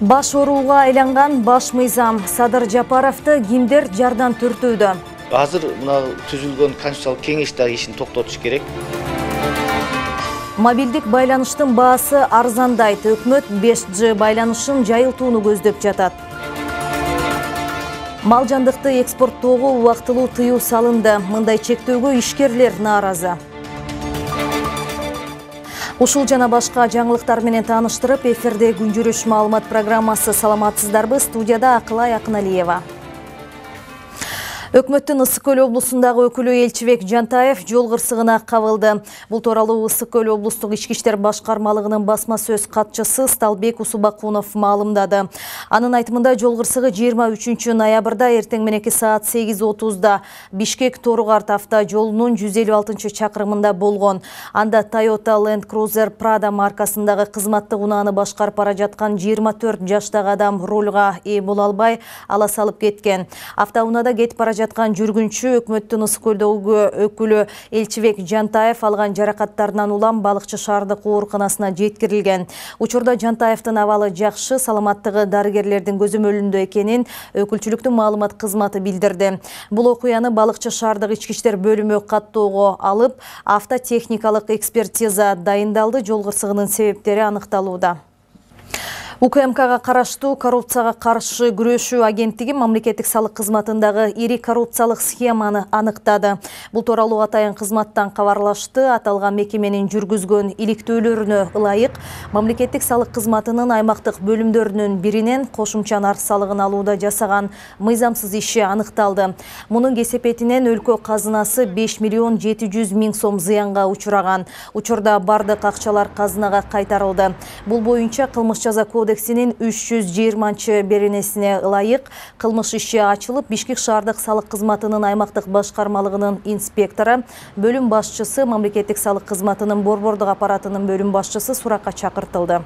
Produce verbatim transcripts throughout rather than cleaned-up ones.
Баш ооруга айланган баш мыйзам Садыр Жапаровду кимдер жардан түртүүдө? Азыр мына түзүлгөн конституциялык кеңеш дагы ишин токтотуш керек. Мобилдик байланыштын баасы арзандайт. Өкмөт беш джи байланышын жайылтууну көздөп жатат. Мал жандыкты экспорттоого убактылуу тыюу салынды. Мындай чектөөгө ишкерлер нааразы. Ушул жана башка жаңылыктар менен тааныштырып, эфирде күн жүрүш маалымат программасы. Саламатсыздарбы? Студияда Акылай Акыналиева. Өкмөттүн Ысык Көл облусундагы өкүлү Элчибек Жантаев жол кырсыгына кабылды. Бул тууралуу Ысык Көл облустук ички иштер башкармалыгынын басма сөз катчысы Сталбек Усубакунов маалымдады. Анын айтымында жол кырсыгы жыйырма үчүнчү ноябрда эртең мененки саат сегиз отузда Бишкек Торугарт авто жолунун жүз элүү алтынчы чакырымында болгон. Анда Toyota Land Cruiser Prado маркасындагы кызматтык унааны башкарып бара жаткан жыйырма төрт жаштагы адам рулга ээ боло албай ала салып кеткен. Автоунада кетип бара жаткан жүргүнчү өкмөттүн Ысык Көлдөгү өкүлү Элчибек Жантаев алган жаракаттарынан улам Балыкчы шаардык ооруканасына жеткирилген. Учурда Жантаевдин абалы жакшы, саламаттыгы дарыгерлердин көзөмөлүндө экенин өкүлчүлүктүн маалымат кызматы билдирди. Бул окуяны Балыкчы шаардык ички иштер бөлүмү каттоого алып, автотехникалык экспертиза дайындалды. Жол кырсыгынын себептери аныкталууда. УКМКга караштуу коррупцияга каршы күрөшүү агенттиги мамлекеттик салык кызматындагы ири коррупциялык схеманы аныктады. Бул тууралуу атайын кызматтан кабарлашты. Аталган мекеменин жүргүзгөн иликтөөлөрүнө ылайык мамлекеттик салык кызматынын аймактык бөлүмдөрүнүн биринен кошумча нарк салыгын алууда жасаган мыйзамсыз иши аныкталды. Мунун кесепетинен өлкө казынасы беш миллион жети жүз миң сом зыянга учураган. Учурда бардык акчалар казынага кайтарылды. Бул боюнча кылмыш жаза кодексинин үч жүз жыйырманчы беренесине ылайык кылмыш иши ачылып, Бишкек шаардык салык кызматынын аймактык башкармалыгынын инспектору, бөлүм башчысы, мамлекеттик салык кызматынын борбордук аппаратынын бөлүм башчысы суракка чакыртылды.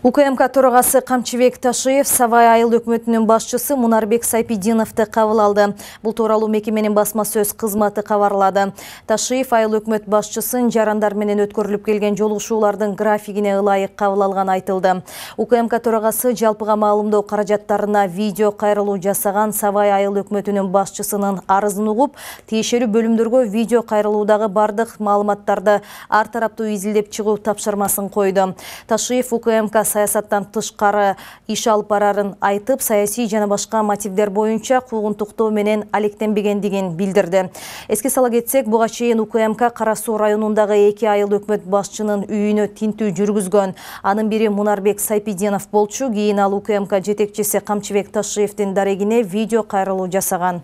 УКМК төрагасы Камчыбек Ташиев Сабай айыл өкмөтүнүн башчысы Мунарбек Сайпидиновду кабыл алды. Бул тууралуу мекеменин басма сөз кызматы кабарлады. Ташиев айыл өкмөт башчысын жарандар менен өткөрүлүп келген жолугушуулардын графигине ылайык кабыл алганы айтылды. УКМК төрагасы жалпыга маалымдоо каражаттарына видео кайрылуу жасаган Сабай айыл өкмөтүнүн башчысынын арызын угуп, тиешелүү бөлүмдөргө видео кайрылуудагы бардык маалыматтарды ар тараптуу изилдеп чыгуу тапшырмасын койду. Ташиев УКМК саясаттан тышкары иш алып барарын айтып, саясий жана башка мотивдер боюнча куугунтуктоо менен алектенбегендигин билдирди. Эске сала кетсек, буга чейин УКМК Кара Суу районундагы эки айыл өкмөт башчынын үйүнө тинтүү жүргүзгөн. Анын бири Мунарбек Сайпидинов болчу. Кийин ал УКМК жетекчиси Камчыбек Ташиевдин дарегине видео кайрылуу жасаган.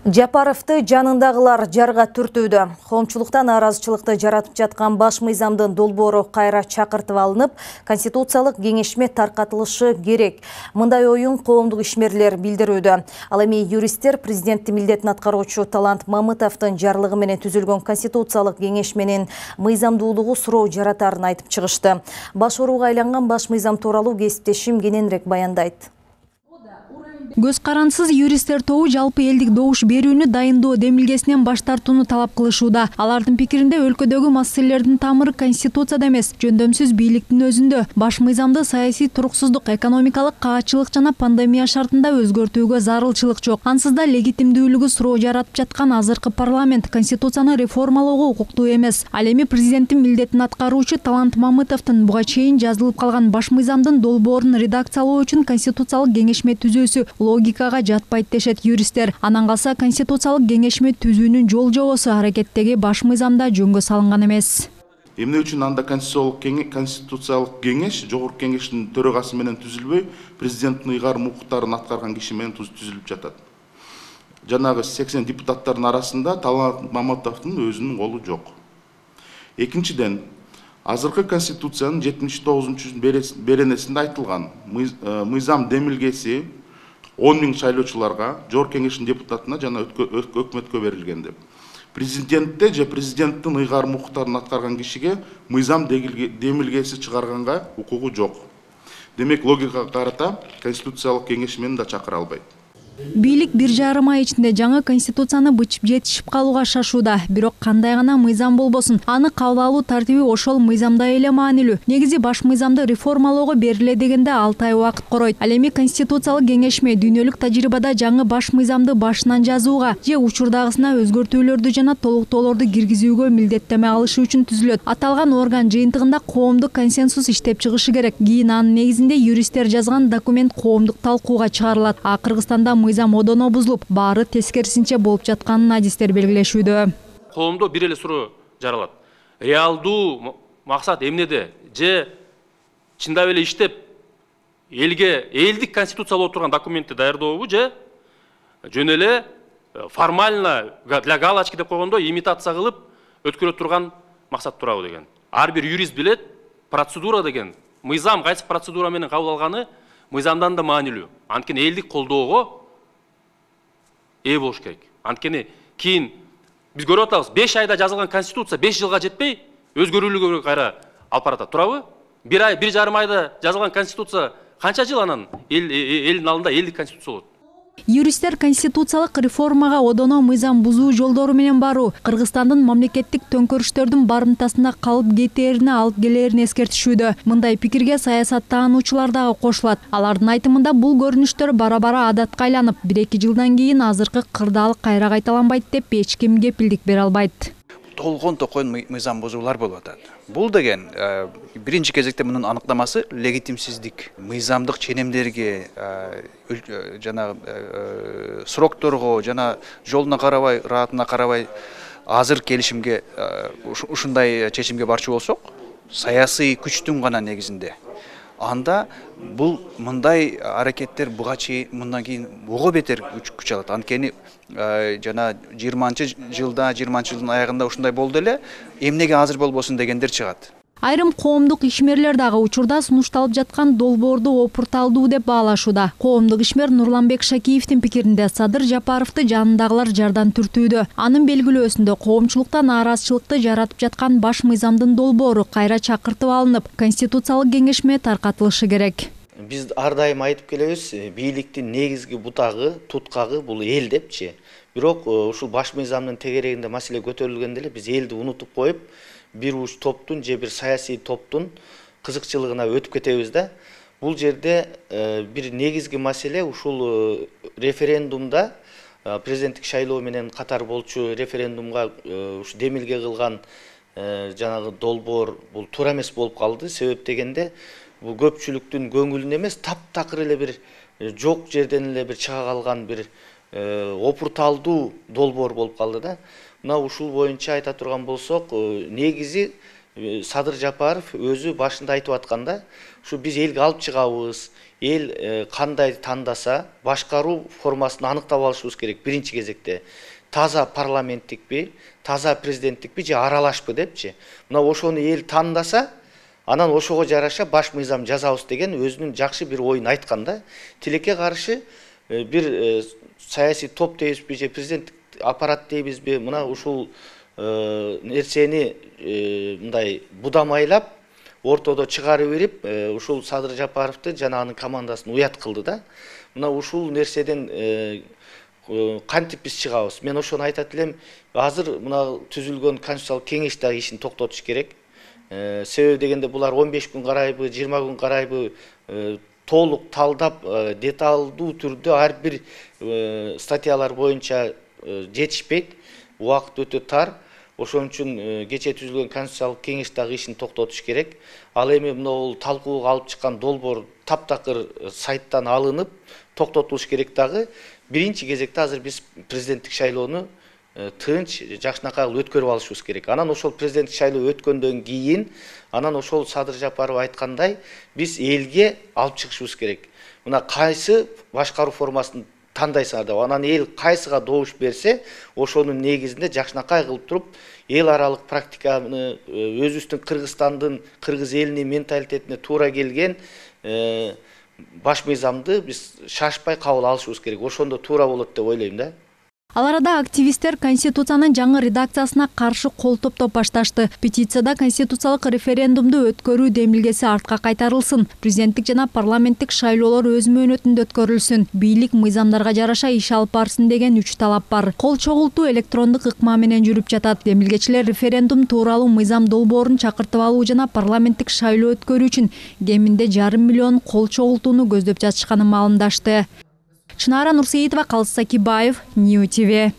Жапаровду жанындагылар жарга түртүүдө. Коомчулукта нааразычылыкты жаратып жаткан баш мыйзамдын долбоору кайра чакыртып алынып, конституциялык кеңешме таркатылышы керек. Мындай оюн коомдук ишмерлер билдирүүдө. Ал эми юристтер президенттин милдетин аткаруучу Талант Мамытовдун жарлыгы менен түзүлгөн конституциялык кеңешменин мыйзамдуулугу суроо жаратарын айтып чыгышты. Баш ооруга айланган баш мыйзам тууралуу кесиптешим кененирээк баяндайт. Көз карансыз юристтер тобу жалпы элдик добуш берүүнү дайындоо демилгесинен баш тартууну талап кылышууда. Алардын пикиринде өлкөдөгү маселелердин тамыры конституцияда эмес, жөндөмсүз бийликтин өзүндө. Баш мыйзамды саясий туруксуздук, экономикалык каачылык жана пандемия шартында өзгөртүүгө зарылчылык жок. Ансыз да легитимдүүлүгү суроо жаратып жаткан азыркы парламент конституцияны реформалоого укуктуу эмес. Ал эми президенттин милдетин аткаруучу Талант Мамытовдун буга чейин жазылып калган баш мыйзамдын долбоорун редакциялоо үчүн конституциялык кеңешме түзүүсү логикага жатпайт дешет юристтер. Анан калса конституциялык кеңешме түзүүнүн жол жобосу аракеттеги баш мыйзамда жөнгө салынган эмес. Эмне үчүн анда конституциялык кеңеш жогорку кеңештин төрагасы менен түзүлбөй, президенттин ыйгарым укуктарын аткарган киши менен түзүлүп жатат. Жанагы сексен депутаттардын арасында Талант Мамытовдун өзүнүн колу жок. Экинчиден, азыркы конституциянын жетимиш тогузунчу беренесинде айтылган мыйзам демилгеси он миң шайлоочуларга, жогорку кеңештин депутатына жана өкмөткө берилген деп. Президентте же президенттин ыйгарым укуктарын аткарган кишиге мыйзам демилгеси чыгарганга укугу жок. Демек, логикага карата Конституциялык кеңеш мени да чакыра албайт. Бийлик бир жарым ай ичинде жаңы конституцияны бычып жетишип калууга шашууда. Бирок кандай гана мыйзам болбосун, аны кабыл алуу тартиби ошол мыйзамда эле маанилүү. Негизи баш мыйзамды реформалоого бериле дегенде алты ай убакыт коройт. Ал эми конституциялык кеңешме дүйнөлүк тажрыйбада жаңы баш мыйзамды башынан жазууга же учурдагысына өзгөртүүлөрдү жана толуктоолорду киргизүүгө милдеттеме алышы үчүн түзүлөт. Аталган орган жыйынтыгында коомдук консенсус иштеп чыгышы керек. Кийин анын негизинде юристтер жазган документ коомдук талкууга чыгарылат. А Кыргызстанда мыйзам одоно бузулуп, баары тескерисинче болуп жатканын адистер белгилешүүдө. Коомдо бир эле суроо жаралат. Реалдуу максат эмнеде? Же чындап эле иштеп элге элдик конституциялуу турган документти даярдообу, же жөн эле формально для галочки деп койгондо имитация кылып өткөрө турган максат турабы деген. Ар бир юрист билет, процедура деген мыйзам кайсы процедура менен кабыл алганы мыйзамдан да маанилүү. Анткени элдик колдоого ээ болуш керек. Анткени кийин биз көрүп атабыз, беш айда жазылган конституция беш жылга жетпей өзгөрүүлүгү кайра алып баратат. Турабы? Бир ай, бир жарым айда жазылган конституция канча жыл анан элдин алдында элдик конституция болот? Юристтер конституциялык реформага одоно мыйзам бузуу жолдору менен баруу Кыргызстандын мамлекеттик төңкөрүштөрдүн барымтасында калып кетээрине алып келээрин эскертишүүдө. Мындай пикирге саясаттануучулар дагы кошулат. Алардын айтымында бул көрүнүштөр бара-бара адатка айланып, бир эки жылдан кийин азыркы кырдаалык кайра кайталанбайт деп эч ким кепилдик бере албайт. Толгон токойн мыйзам бузуулар болуп атат. Бул деген биринчи кезекте мунун аныктамасы легитимсиздик. Мыйзамдык ченемдерге, жана срокторго, жана жолуна карабай, раатына карабай азыр келишимге ушундай чечимге барчу болсок, саясий күчтүн гана негизинде. Анда бул мындай аракеттер буга чейин мындан кийин ого бетер күч алат. Анткени жана жыйырманчы жылда, жыйырманчы жылдын аягында ушундай болду эле, эмнеге азыр болбосун дегендер чыгат. Айрым коомдук ишмерлер дагы учурда сунушталып жаткан долбоорду опурталдуу деп баалашууда. Коомдук ишмер Нурланбек Шакиевдин пикиринде Садыр Жапаровду жанындагылар жардан түртүүдө. Анын белгилөөсүндө коомчулукта нааразычылыкты жаратып жаткан баш мыйзамдын долбоору кайра чакыртып алынып, конституциялык кеңешме таркатылышы керек. Биз ар дайым айтып келебиз, бийликтин негизги бутагы, туткагы бул эл депчи. Бирок ушул баш мыйзамдын тегерегинде маселе көтөрүлгөндө эле биз элди унутуп коюп, бир уч топтун же бир саясий топтун кызыкчылыгына өтүп кетебиз да. Бул жерде бир негизги маселе ушул референдумда президенттик шайлоо менен катар болчу референдумга ушу демилге кылган жанагы долбоор бул туура эмес болуп калды. Себеп дегенде бул көпчүлүктүн көңүлүнө эмес, таптакыр эле бир жок жерден эле бир чыга калган бир опурталдуу долбоор болуп калды да. Мына ушул боюнча айта турган болсок, негизи Садыр Жапаров өзү башында айтып атканда, ушу биз элге алып чыгабыз, эл кандай тандаса, башкаруу формасын аныктап алышыбыз керек биринчи кезекте. Таза парламенттикпи, таза президенттикпи же аралашпы депчи. Мына ошону эл тандаса, анан ошого жараша баш мыйзам жазабыз деген өзүнүн жакшы бир оюн айткан да. Тилекке каршы бир саясий топ дейбизби же президенттик аппарат дейбизби, мына ушул нерсени мындай будамайлап ортодо чыгарып берип, ушул Садыр Жапаровду жана анын командасын уят кылды да. Мына ушул нерседен кантип биз чыгабыз? Мен ошону айтат элем, азыр мына түзүлгөн конституциялык кеңеш дагы ишин токтотуш керек. Себеби дегенде булар он беш күн карайбы, жыйырма күн карайбы толук талдап, деталдуу түрдө ар бир статьялар боюнча жетишпейт, убакыт өтө тар. Ошон үчүн кече түзүлгөн конституциялык кеңеш дагы ишин токтотуш керек. Ал эми мына талкууга алып чыккан долбоор таптакыр сайттан алынып, токтотулуш керек дагы. Биринчи кезекте азыр биз президенттик шайлоону тынч, жакшынакай өткөрүп алышыбыз керек. Анан ошол президенттик шайлоо өткөндөн кийин, анан ошол Садыр Жапаров айткандай, биз элге алып чыгышыбыз керек. Мына кайсы башкаруу формасын тандайсыңар деп, анан эл кайсыга добуш берсе, ошонун негизинде жакшынакай кылып туруп, эл аралык практиканы, өзүбүздүн Кыргызстандын, кыргыз элинин менталитетине туура келген баш мыйзамды биз шашпай кабыл алышыбыз керек. Ошондо туура болот деп ойлойм да. Ал арада активисттер Конституциянын жаңы редакциясына каршы кол топтоп башташты. Петицияда конституциялык референдумду өткөрүү демилгеси артка кайтарылсын, президенттик жана парламенттик шайлоолор өз мөөнөтүндө өткөрүлсүн, бийлик мыйзамдарга жараша иш алып барсын деген үч талап бар. Кол чогултуу электрондук ыкма менен жүрүп жатат. Демилгечилер референдум тууралуу мыйзам долбоорун чакыртып алуу жана парламенттик шайлоо өткөрүү үчүн кеминде жарым миллион кол чогултууну көздөп жатышканын маалымдашты. Чынара Нурсеитова, Калыс Сакибаев, Нью ти ви.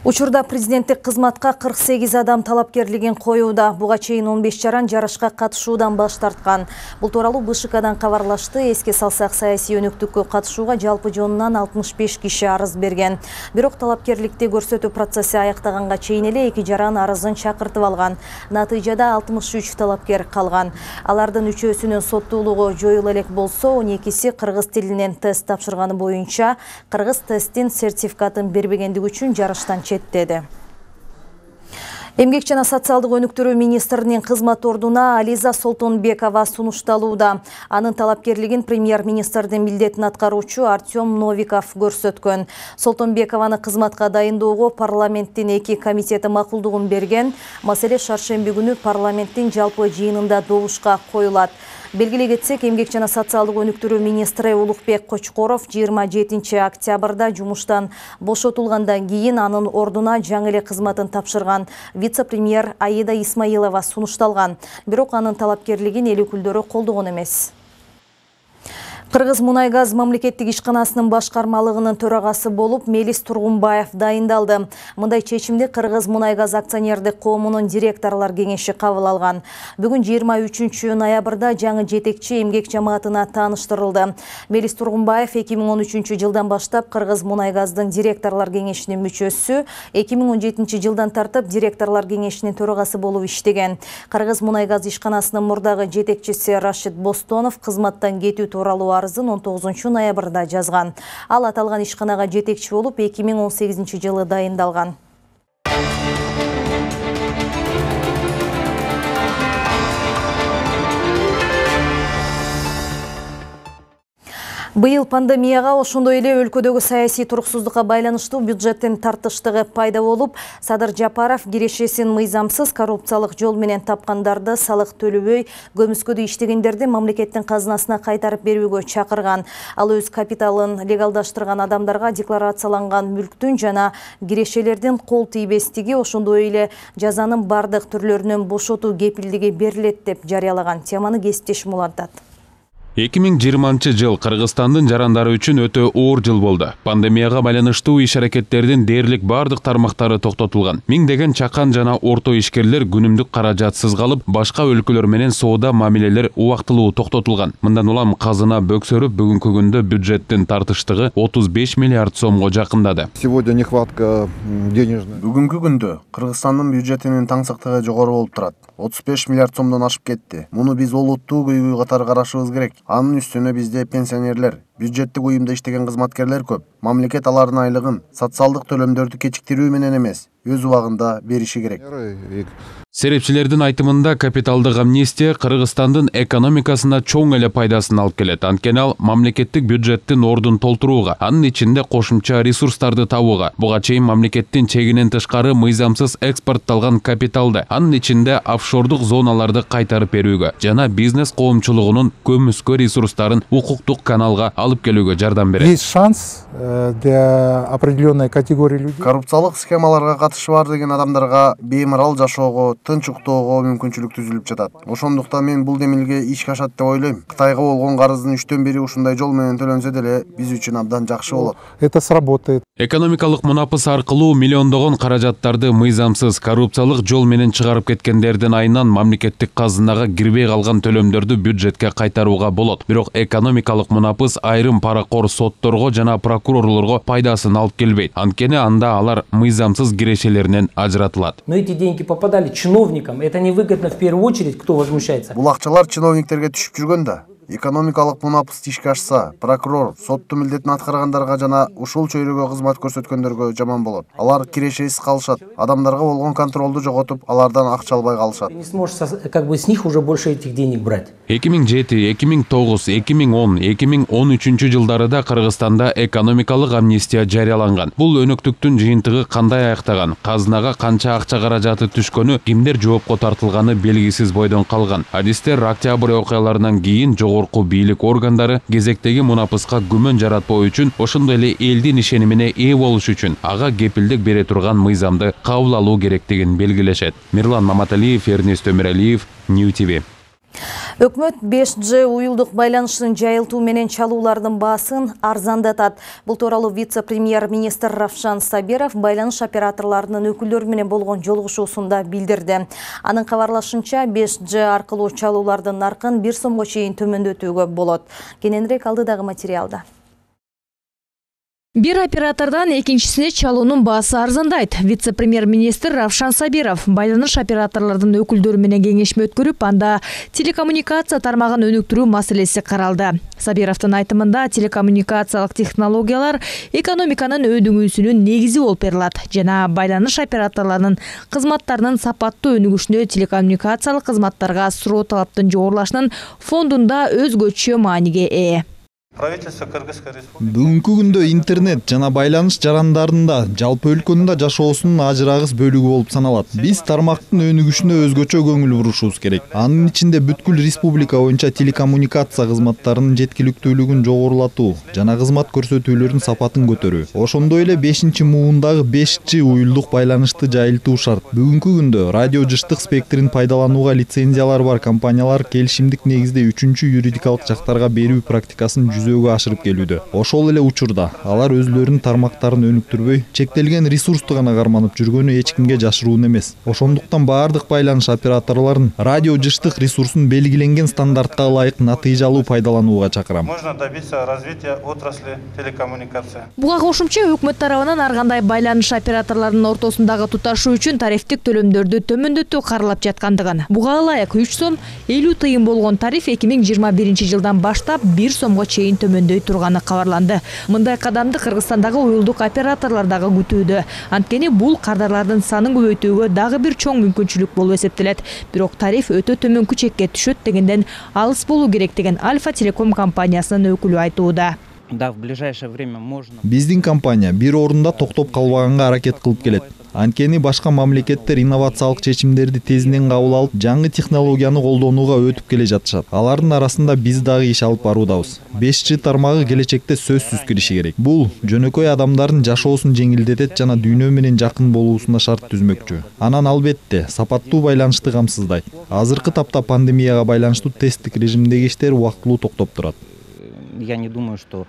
Учурда президенттик кызматка кырк сегиз адам талапкерлигин коюуда. Буга чейин он беш жаран жарышка катышуудан баш тарткан. Бул тууралуу бэ ш кдан кабарлашты. Эске салсак, саясий өнүктүккө катышууга жалпы жонунан алтымыш беш киши арыз берген. Бирок талапкерликти көрсөтүү процесси аяктаганга чейин эле эки жаран арызын чакыртып алган. Натыйжада алтымыш үч талапкер калган. Алардын үчөөсүнүн соттуулугу жоюла элек болсо, он экиси кыргыз тилинен тест тапшырганы боюнча кыргыз тесттин сертификатын бербегендиги үчүн жарыштан четтеди. Эмгек жана социалдык өнүктүрүү министринин кызмат ордуна Ализа Солтонбекова сунушталууда. Анын талапкерлигин премьер-министрдин милдетин аткаруучу Артем Новиков көрсөткөн. Солтонбекованы кызматка дайындоого парламенттин эки комитети макулдугун берген. Маселе шаршемби күнү парламенттин жалпы жыйынында добушка коюлат. Белгилей кетсек, эмгек жана социалдык өнүктүрүү министри Улукбек Кочкоров жыйырма жетинчи октябрда жумуштан бошотулгандан кийин анын ордуна жаңы эле кызматын тапшырган вице-премьер Аида Исмаилова сунушталган. Бирок анын талапкерлигин эл өкүлдөрү колдогон эмес. Кыргыз Мунай газ мамлекеттик ишканасынын башкармалыгынын төрагасы болуп Мелис Тургунбаев дайындалды. Мындай чечимди Кыргыз Мунай газ акционердик коомунун директорлор кеңеши кабыл алган. Бүгүн жыйырма үчүнчү ноябрда жаңы жетекчи эмгек жамаатына тааныштырылды. Мелис Тургунбаев эки миң он үчүнчү жылдан баштап Кыргыз Мунай газдын директорлор кеңешинин мүчөсү, эки миң он жетинчи жылдан тартып директорлор кеңешинин төрагасы болуп иштеген. Кыргыз Мунай газ ишканасынын мурдагы жетекчиси Рашид Бостонов кызматтан кетүү тууралуу арызын он тогузунчу ноябрда жазган. Ал аталган ишканага жетекчи болуп эки миң он сегизинчи жылы дайындалган. Быйыл пандемияга, ошондой эле өлкөдөгү саясий туруксуздукка байланыштуу бюджеттин тартыштыгы пайда болуп, Садыр Жапаров кирешесин мыйзамсыз коррупциялык жол менен тапкандарды салык төлөбөй, көмүскөдө иштегендерди мамлекеттин казынасына кайтарып берүүгө чакырган. Ал өз капиталын легалдаштырган адамдарга декларацияланган мүлктүн жана кирешелердин кол тийбестиги, ошондой эле жазанын бардык түрлөрүнөн бошотуу кепилдиги берилет деп жарыялаган. Теманы Кесиптешим улантат. эки миң жыйырманчы жыл Кыргызстандын жарандары үчүн өтө оор жыл болду. Пандемияга байланыштуу иш-аракеттердин дээрлик бардык тармактары токтотулган. Миңдеген чакан жана орто ишкерлер күнүмдүк каражатсыз калып, башка өлкөлөр менен соода мамилелер убактылуу токтотулган. Мындан улам казына бөксөрүп, бүгүнкү күндө бюджеттин тартыштыгы отуз беш миллиард сомго жакындады. Сегодня нехватка денежная. Бүгүнкү күндө Кыргызстандын бюджетинин таңсыктыгы жогору болуп турат. отуз беш миллиард сомдон ашып кетти. Муну биз олуттуу көйгөй катары карашыбыз керек. Анын үстүнө бизде пенсионерлер, бюджеттик уюмда иштеген кызматкерлер көп. Мамлекет алардын айлыгын социалдык төлөмдөрдү кечиктирүү менен эмес, өз убагында бериши керек. Серепчилердин айтымында капиталдык амнистия Кыргызстандын экономикасына чоң эле пайдасын алып келет. Анткени ал мамлекеттик бюджеттин ордун толтурууга, анын ичинде кошумча ресурстарды табууга, буга чейин мамлекеттин чегинен тышкары мыйзамсыз экспортталган капиталды, анын ичинде офшордук зоналарды кайтарып берүүгө жана бизнес коомчулугунун көмүскө ресурстарын укуктук каналга алып келүүгө жардам берет. Есть шанс для определенной категории людей. Коррупциялык схемаларга катышы бар деген адамдарга беймарал жашоого, тынч уктоого мүмкүнчүлүк түзүлүп жатат. Ошондуктан мен бул демилге ишке ашат деп ойлойм. Кытайга болгон карыздын үчтөн бири ушундай жол менен төлөнсө деле биз үчүн абдан жакшы болот. Это сработает. Экономикалык мунапыс аркылуу миллиондогон каражаттарды мыйзамсыз коррупциялык жол менен чыгарып кеткендердин айынан мамлекеттик казынага кирбей калган төлөмдөрдү бюджетке кайтарууга болот. Бирок экономикалык мунапыс айрым паракор сотторго жана прокурорлорго пайдасын алып келбейт. Анткени анда алар мыйзамсыз кирешелеринен ажыратылат. Но эти деньги попадали чиновникам. Это невыгодно в первую очередь, кто возмущается. Бул акчалар чиновниктерге түшүп жүргөн да. Экономикалык мунапыс ишке ашса, прокурор соттун милдетин аткаргандарга жана ушул чөйрөгө кызмат көрсөткөндөргө жаман болот. Алар кирешесиз калышат, адамдарга болгон контролду жоготуп, алардан акча албай калышат. Ты не сможешь как бы с них уже больше этих денег брать. эки миң жети, эки миң тогуз, эки миң он, эки миң он үчүнчү жылдарыда Кыргызстанда экономикалык амнистия жарыяланган. Бул өнөктүктүн жыйынтыгы кандай аяктаган, казынага канча акча каражаты түшкөнү, кимдер жоопко тартылганы белгисиз бойдон калган. Адистер октябрь окуяларынан кийин жогорку бийлик органдары кезектеги мунапыска күмөн жаратпоо үчүн, ошондой эле элдин ишенимине ээ болуш үчүн ага кепилдик бере турган мыйзамды кабыл алуу керектигин белгилешет. Мирлан Маматалиев, Эрнест Өмүралиев, Нью ти ви. Өкмөт беш джи уюлдук байланыштын жайылтуу менен чалуулардын баасын арзандатат. Бул тууралуу вице-премьер-министр Равшан Сабиров байланыш операторлорунун өкүлдөрү менен болгон жолугушуусунда билдирди. Анын кабарлашынча беш джи аркылуу чалуулардын наркын бир сомго чейин төмөндөтүүгө болот. Кененирээк алдыдагы материалда. Бир оператордан экинчисине чалуунун баасы арзандайт. Вице-премьер-министр Равшан Сабиров байланыш операторлордун өкүлдөрү менен кеңешме өткөрүп, анда телекоммуникация тармагын өнүктүрүү маселеси каралды. Сабировдун айтымында телекоммуникациялык технологиялар экономиканын өдүңүүсүнүн негизи болуп берилат жана байланыш операторлорунун кызматтарынын сапаттуу өнүгүшүнө телекоммуникациялык кызматтарга суроо талаптын жогорулашынын фондунда өзгөчө мааниге ээ. Бүгүнкү күндө интернет жана байланыш жарандарында жалпы өлкөнүн жашоосунун ажырагыс бөлүгү болуп саналат. Биз тармактын өнүгүшүнө өзгөчө көңүл бурушубуз керек. Анын ичинде бүткүл республика боюнча телекоммуникация кызматтарынын жеткиликтүүлүгүн жогорулатуу жана кызмат көрсөтүүлөрдүн сапатын көтөрүү. Ошондой эле бешинчи муундагы беш джи уюлдук байланышты жайылтуу шарт. Бүгүнкү күндө радио жыштык спектрин пайдаланууга лицензиялары бар компаниялар келишимдик негизде үчүнчү юридикалык жактарга берүү практикасын жүзөгө ашырып келүүдө. Ошол эле учурда алар өзлөрүнүн тармактарын өнүктүрбөй, чектелген ресурсту гана карманып жүргөнү эч кимге жашыруун эмес. Ошондуктан баардык байланыш операторлорун радио жыштык ресурсун белгиленген стандартка ылайык натыйжалуу пайдаланууга чакырам. Можно добиться развития отрасли телекоммуникация. Буга кошумча өкмөт тарабынан ар кандай байланыш операторлорунун ортосундагы туташуу үчүн тарифтик төлөмдөрдү төмөндөтүү каралып жаткандыгын. Буга ылайык үч сом элүү тыйын болгон тариф эки миң жыйырма биринчи жылдан баштап бир сомго чейин төмөндөй турганы кабарланды. Мындай кадамды Кыргызстандагы уюлдук операторлор дагы күтүүдө. Анткени бул кардарлардын санын көбөйтүүгө дагы бир чоң мүмкүнчүлүк болуп эсептелет. Бирок тариф өтө төмөнкү чекке түшөт дегенден алыс болуу керек деген Альфа Телеком компаниясынын өкүлү айтууда. Да, в ближайшее время можно. Биздин компания бир орунда токтоп калбаганга аракет кылып келет. Анткени башка мамлекеттер инновациялык чечимдерди тезинен кабыл алып, жаңы технологияны колдонууга өтүп келе жатышат. Алардын арасында биз дагы иш алып баруудабыз. беш джи тармагы келечекте сөзсүз кириши керек. Бул жөнөкөй адамдардын жашоосун жеңилдетет жана дүйнө менен жакын болуусуна шарт түзмөкчү. Анан албетте сапаттуу байланышты камсыздайт. Азыркы тапта пандемияга байланыштуу тесттик режимдеги иштер убактылуу токтоп турат. Я не думаю, что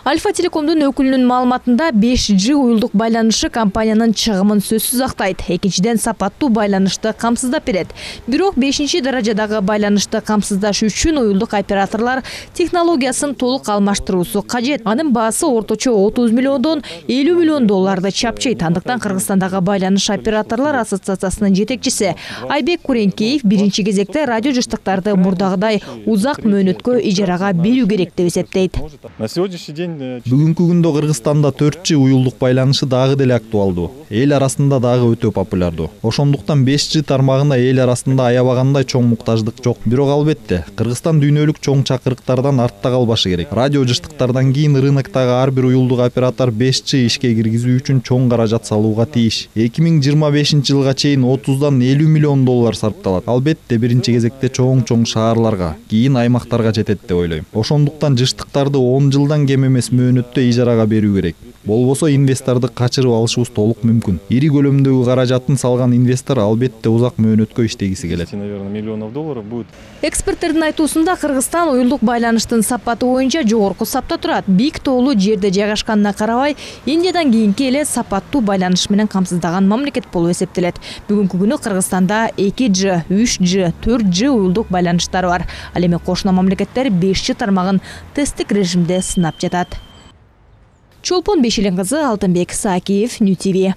Альфа Телекомдун өкүлүнүн маалыматында беш джи уюлдук байланышы компаниянын чыгымын сөзсүз актайт. Экинчиден сапаттуу байланышты камсыздап берет. Бирок бешинчи даражадагы байланышты камсыздаш үчүн уюлдук операторлор технологиясын толук алмаштыруусу кажет. Анын баасы орточо отуз миллиондон элүү миллион долларды чапчыйт. Андыктан Кыргызстандагы байланыш операторлор ассоциациясынын жетекчиси Айбек Куренкеев биринчи кезекте радио жыштыктарды мурдагыдай узак мөөнөткө ижарага берүү керек деп эсептейт. Бүгүнкү күндө Кыргызстанда төрт джи уюлдук байланышы дагы деле актуалдуу. Эл арасында дагы өтө популярдуу. Ошондуктан беш джи тармагына эл арасында аябагандай чоң муктаждык жок. Бирок албетте Кыргызстан дүйнөлүк чоң чакырыктардан артта калбашы керек. Радио жыштыктардан кийин рыноктогу ар бир уюлдук оператор беш джи ишке киргизүү үчүн чоң каражат салууга тийиш. эки миң жыйырма бешинчи жылга чейин отуздан элүү миллион доллар сарпталат. Албетте биринчи кезекте чоң-чоң шаарларга, кийин аймактарга жетет деп ойлойм. Ошондуктан жыштыктарды он жылдан кем эмес мөөнөттө ижарага берүү керек. Болбосо инвесторду качырып алышыбыз толук мүмкүн. Ири көлөмдөгү каражатын салган инвестор албетте узак мөөнөткө иштегиси келет. Эксперттердин айтуусунда Кыргызстан уюлдук байланыштын сапаты боюнча жогорку сапта турат. Бийик тоолуу жерде жайгашканына карабай, Индиядан кийинки эле сапаттуу байланыш менен камсыздаган мамлекет болуп эсептелет. Бүгүнкү күнү Кыргызстанда эки джи, үч джи, төрт джи уюлдук байланыштар бар. Ал эми кошуна мамлекеттер беш джи тармагын тесттик режимде сынап жатат. Чолпон Бешелен кызы, Алтынбек Саакиев, Нью ти ви.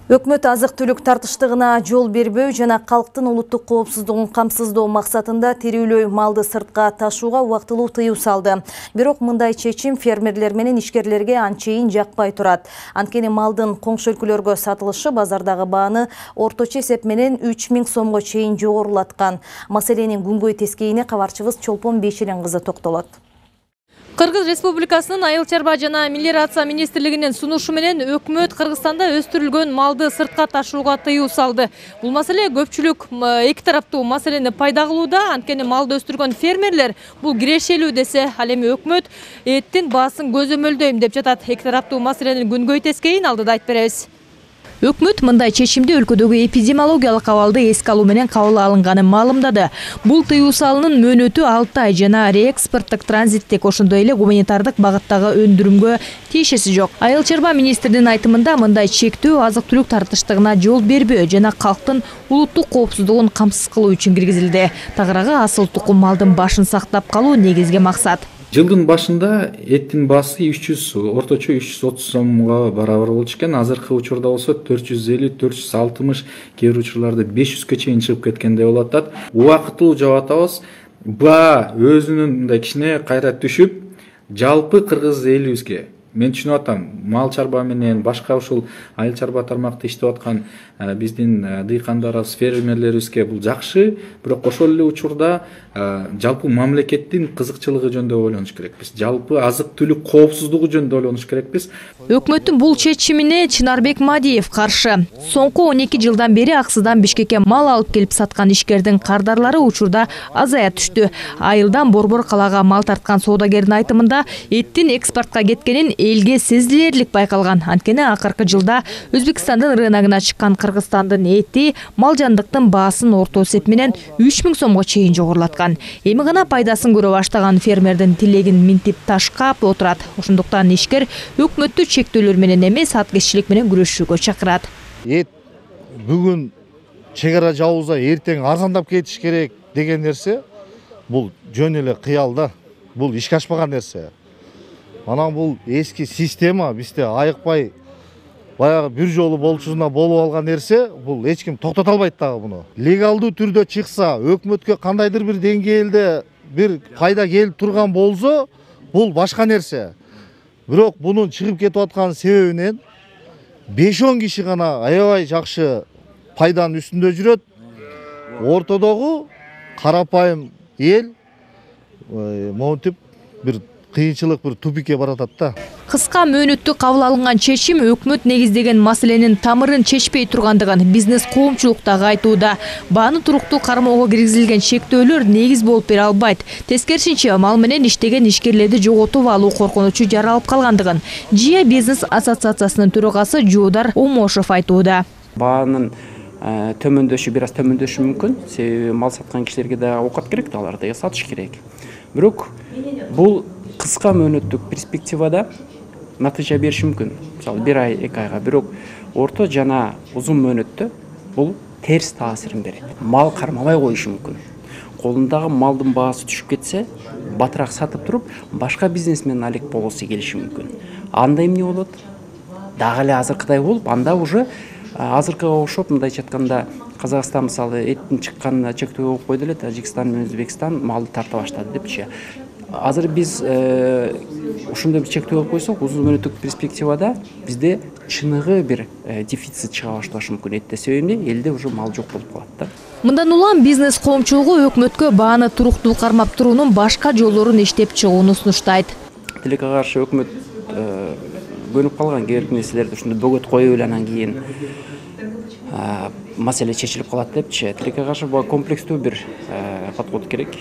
Өкмөт азык-түлүк тартыштыгына жол бербөө жана калктын улуттук коопсуздугун камсыздоо максатында тирүүлөй малды сыртка ташууга убактылуу тыюу салды. Бирок мындай чечим фермерлер менен ишкерлерге анчейин жакпай турат. Анткени малдын коңшу өлкөлөргө сатылышы базардагы бааны орточо эсеп менен үч миң сомго чейин жогорулаткан. Маселенин күнгөй тескейине кабарчыбыз Чолпон Бейширен кызы токтолот. Кыргыз Республикасынын Айыл чарба жана мелиорация министрлигинин сунушу менен өкмөт Кыргызстанда өстүрүлгөн малды сыртка ташууга тыюу салды. Бул маселе көпчүлүк эки тараптуу маселени пайда кылууда. Анткени малды өстүргөн фермерлер бул кирешелүү десе, ал эми өкмөт эттин баасын көзөмөлдөйм деп жатат. Эки тараптуу маселенин күнгөй тескейин алдыда айтып беребиз. Өкмөт мындай чечимди өлкөдөгү эпидемиологиялык абалды эске алуу менен кабыл алынганын маалымдады. Бул тыюу салынын мөөнөтү алты ай жана реэкспорттук транзиттик ошондой эле гуманитардык багыттагы өндүрүмгө тиешеси жок. Айыл чарба министринин айтымында мындай чектөө азык-түлүк тартыштыгына жол бербөө жана калктын улуттук коопсуздугун камсыз кылуу үчүн киргизилди. Тагыраагы асыл тукум малдын башын сактап калуу негизги максат. Жылдын башында эттин баасы үч жүз, орточо үч жүз отуз сомго барабар болчу экен. Азыркы учурда болсо төрт жүз элүү, төрт жүз алтымыш, кээ бир учурларда беш жүзгө чейин чыгып кеткендей болуп атат. Убактылуу жаап атабыз. Баа өзүнүн мындай кичине кайра түшүп, жалпы кыргыз элибизге, мен түшүнүп атам, мал чарба менен башка ушул айыл чарба тармакта иштеп аткан биздин дыйкандарыбыз, фермерлерибизге бул жакшы, бирок ошол эле учурда жалпы мамлекеттин кызыкчылыгы жөнүндө ойлонуш керекпиз. Жалпы азык-түлүк коопсуздугу жөнүндө ойлонуш керекпиз. Өкмөттүн бул чечимине Чынарбек Мадиев каршы. Соңку он эки жылдан бери Аксыдан Бишкекке мал алып келип саткан ишкердин кардарлары учурда азая түштү. Айылдан Борбор калаага мал тарткан соодагердин айтымында эттин экспортко кеткенин элге сезилерлик байкалган. Анткени акыркы жылда Өзбекстандын рыногуна чыккан Кыргызстандын эти мал жандыктын баасын орто эсеп менен үч миң сомго чейин жогорулаткан. Эми гана пайдасын көрө баштаган фермердин тилегин минтип ташкап отурат. Ошондуктан ишкер өкмөттү чектөөлөр менен эмес, аткезчилик менен күрөшүүгө чакырат. Эт бүгүн чек ара жабылса, эртең арзандап кетиш керек деген нерсе бул жөн эле кыял да. Бул ишке ашпаган нерсе. Анан бул эски система бизде айыкпай баягы бир жолу болчусуна болуп алган нерсе, бул эч ким токтото албайт дагы буну. Легалдуу түрдө чыкса, өкмөткө кандайдыр бир деңгээлде бир пайда келип турган болсо, бул башка нерсе. Бирок бунун чыгып кетип аткан себебинен беш он киши гана аябай жакшы пайданын үстүндө жүрөт. Ортодогу карапайым эл монтип бир кыйынчылык, бир тупикке баратат да. Кыска мөөнөттү кабыл алынган чечим өкмөт негиздеген маселенин тамырын чечпей тургандыгын бизнес коомчулуктагы айтууда. Бааны туруктуу кармоого киргизилген чектөөлөр негиз болуп бере албайт. Тескерисинче, мал менен иштеген ишкерлерди жоготуп алуу коркунучу жаралып калгандыгын Жия бизнес ассоциациясынын төрагасы Жуудар Омошов айтууда. Баанын төмөндөшү бир аз төмөндөшү мүмкүн. Себеби мал саткан кишилерге да оокат керек да, аларды сатыш керек. Бирок бул кыска мөөнөттүк перспективада натыйжа бериши мүмкүн. Мисалы бир ай, эки айга. Бирок орто жана узун мөөнөттө бул терс таасирин берет. Мал кармабай коюшу мүмкүн. Колундагы малдын баасы түшүп кетсе, батыраак сатып туруп, башка бизнесмен алек болгусу келиши мүмкүн. Анда эмне болот? Дагы эле азыркыдай болуп, анда уже азыркыга окшоп, мындайча айтканда, Казакстан мисалы эттин чыккан чектөө коюп койду эле, Тажикстан менен Өзбекстан малды тарта баштады депчи. Азыр биз ошондой бир чектөө коюп койсок, узун мөөнөттүк перспективада бизде чыныгы бир дефицит чыга башташы мүмкүн. Этте себеби элде уже мал жок болуп калат да. Мындан улам бизнес коомчулугу өкмөткө бааны туруктуу кармап туруунун башка жолдорун иштеп чыгууну сунуштайт. Тилекке каршы өкмөт көнүп калган кээ бир нерселерди ушундай бөгөт коюп эле анан кийин маселе чечилип калат депчи. Тилекке каршы бул комплекстүү бир подход керек.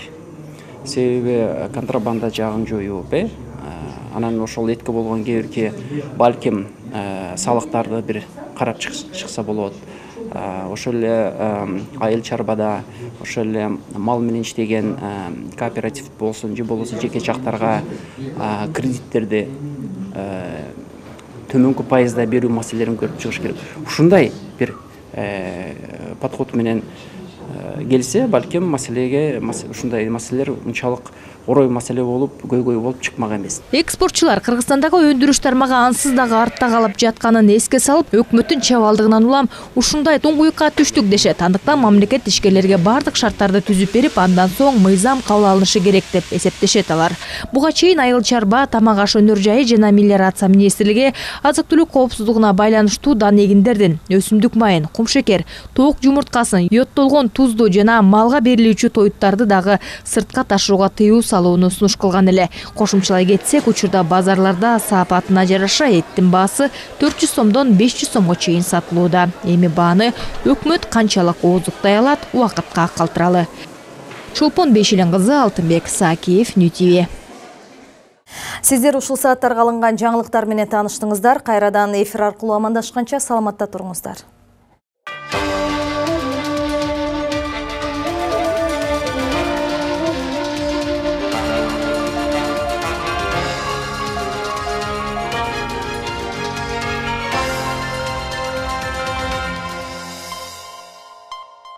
Себеби контрабанда жагын жоюп, э анан ошол этке болгон кээ бирки балким салыктарды бир карап чыкса болот. Ошол эле айыл чарбада, ошол эле мал менен иштеген кооператив болсун, же болбосо жеке жактарга кредиттерди төмөнкү пайызда берүү маселелерин көрүп чыгыш керек. Ушундай бир подход менен келсе, балким маселеге ушундай маселелер унчалык орой маселе болуп көйгөй болуп чыкмак эмес. Экспортчулар Кыргызстандагы өндүрүш тармагы ансыз дагы артта калып жатканын эске салып, өкмөттүн чабалдыгынан улам ушундай туңгуйукка түштүк дешет. Андыктан мамлекет ишкерлерге бардык шарттарды түзүп берип, андан соң мыйзам кабыл алынышы керек деп эсептешет алар. Буга чейин Айыл чарба, тамак аш өнөр жайы жана мелиорация министрлиги азык-түлүк коопсуздугуна байланыштуу дан эгиндердин, өсүмдүк майын, кумшекер, тоок жумурткасын, йоттолгон тузду жана малга берилүүчү тоюттарды дагы сыртка ташууга тыюу салууну сунуш кылган эле. Кошумчалай кетсек, учурда базарларда саапатына жараша эттин баасы төрт жүз сомдон беш жүз сомго чейин сатылууда. Эми бааны өкмөт канчалык ооздуктай алат, убакытка калтыралы. Чолпон Бешилин кызы, Алтынбек Сакиев, Нью ти ви. Сиздер ушул сааттарга алынган жаңылыктар менен тааныштыңыздар. Кайрадан эфир аркылуу амандашканча саламатта туруңуздар.